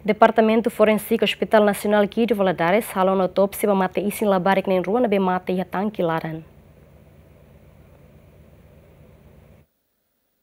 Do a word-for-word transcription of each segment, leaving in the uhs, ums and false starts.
Departamentu Forensik Hospital Nasionál Guido Valadares halo ona autópsia ba mate-isin labarik na'in-rua ne'ebé mate iha tanki laran.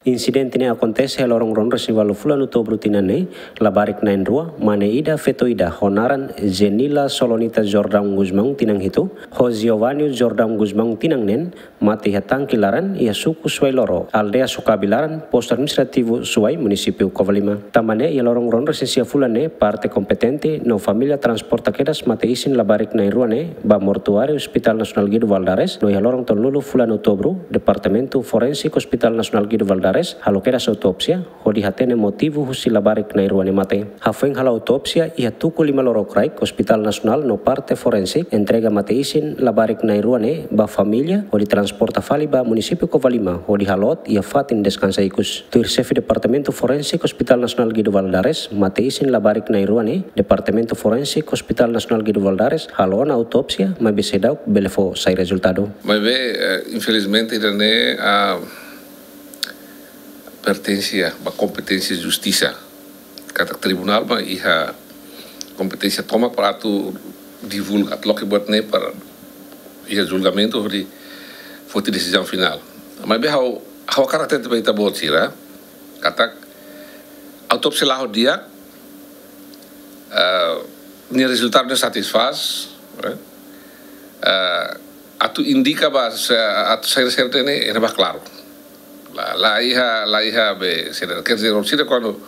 Insidente ne'e akontese iha loron ruanulu-resin-ualu fulan Outubru tinan ne'e, labarik na'in-rua, mane ida, feto ida, ho naran Zenila Solonita Jordão Gusmão, tinan hitu, ho Giovanni Jordão Gusmão, tinan neen, mate iha tanki laran iha suku Suai Loro, aldeia Sukabi Laran, postu administrativu Suai, munisípiu Covalima. Tanba ne'e, iha loron ruanulu-resin-sia fulan ne'e, parte kompetente no família transporta kedas mate-isin labarik na'in-rua ne'e ba mortuáriu Hospital Nasionál Guido Valadares, no iha loron tolunulu fulan Outubru, Departamentu Forensik Hospital Nasionál Guido Valadares halo kedas autópsia, hodi hatene motivu husi labarik na'in-rua ne'e mate. Hafoin halo autópsia iha tuku lima lorokraik, Hospital Nasionál no parte forensik entrega mate-isin labarik na'in-rua ne'e ba família, hodi transporta fali ba munisípiu Covalima, hodi halo iha fatin deskansa ikus. Tuir Xefe Departamentu Forensik Hospital Nasionál Guido Valadares, mate-isin labarik na'in-rua ne'e, Departamentu Forensik Hospital Nasionál Guido Valadares halo ona autópsia, maibé seidauk bele fó sai rezultadu. Maibé, eh, infelizmente, ida-ne'e, ah, pertense ba kompeténsia justisa. Katak tribunál mak iha kompeténsia tomak para atu divulga, atu loke buat ne'e para iha julgamentu hodi foti desizaun finál. Maibé ha'u, ha'u hakarak hatete ba ita-boot sira, katak autópsia la'o di'ak, eh, nia rezultadu ne'e satisfás, eh, eh, atu indika ba se, atu saida-saida ne'e, ne'e ba klaru. La, la iha, la iha be, saida, quer dizer, sira kuandu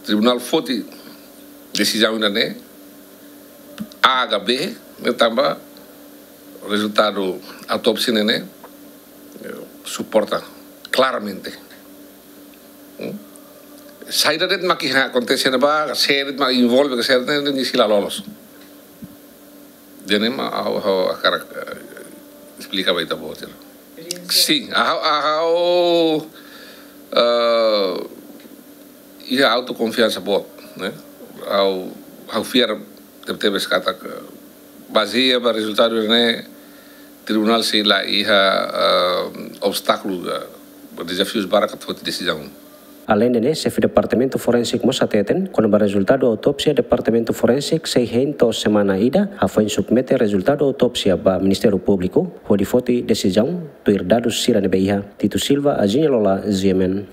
tribunál foti desizaun ida-ne'e, A ka B, ne'e tanba rezultadu autópsia ne'e, ne'e, eh, suporta klaramente. Hmm? Saida de'it mak iha akontese ne'ebá, sé de'it mak envolve, sé de'it ne'e, ne'e sei la lolos. Jadi mak ha'u, ha'u hakarak, eh, esplika ba ita-boot sira. Sin, ha'u, ha'u, eh, iha autokonfiansa boot, ne'e? Ha'u, ha'u fiar tebetebes katak, eh, bazeia ba rezultadu ne'e, tribunál sei la iha, eh, obstákulu, eh, dezafius barak atu foti desizaun. Aleinde ne'e, Xefe Departamentu Forensik mós hateten, kona-ba rezultadu autópsia, Departamentu Forensik sei hein to'o semana ida, hafoin submete rezultadu autópsia ba Ministériu Públiku, hodi foti desizaun tuir dadus sira ne'ebé iha. Tito Silva, Azinha Lola, G M N.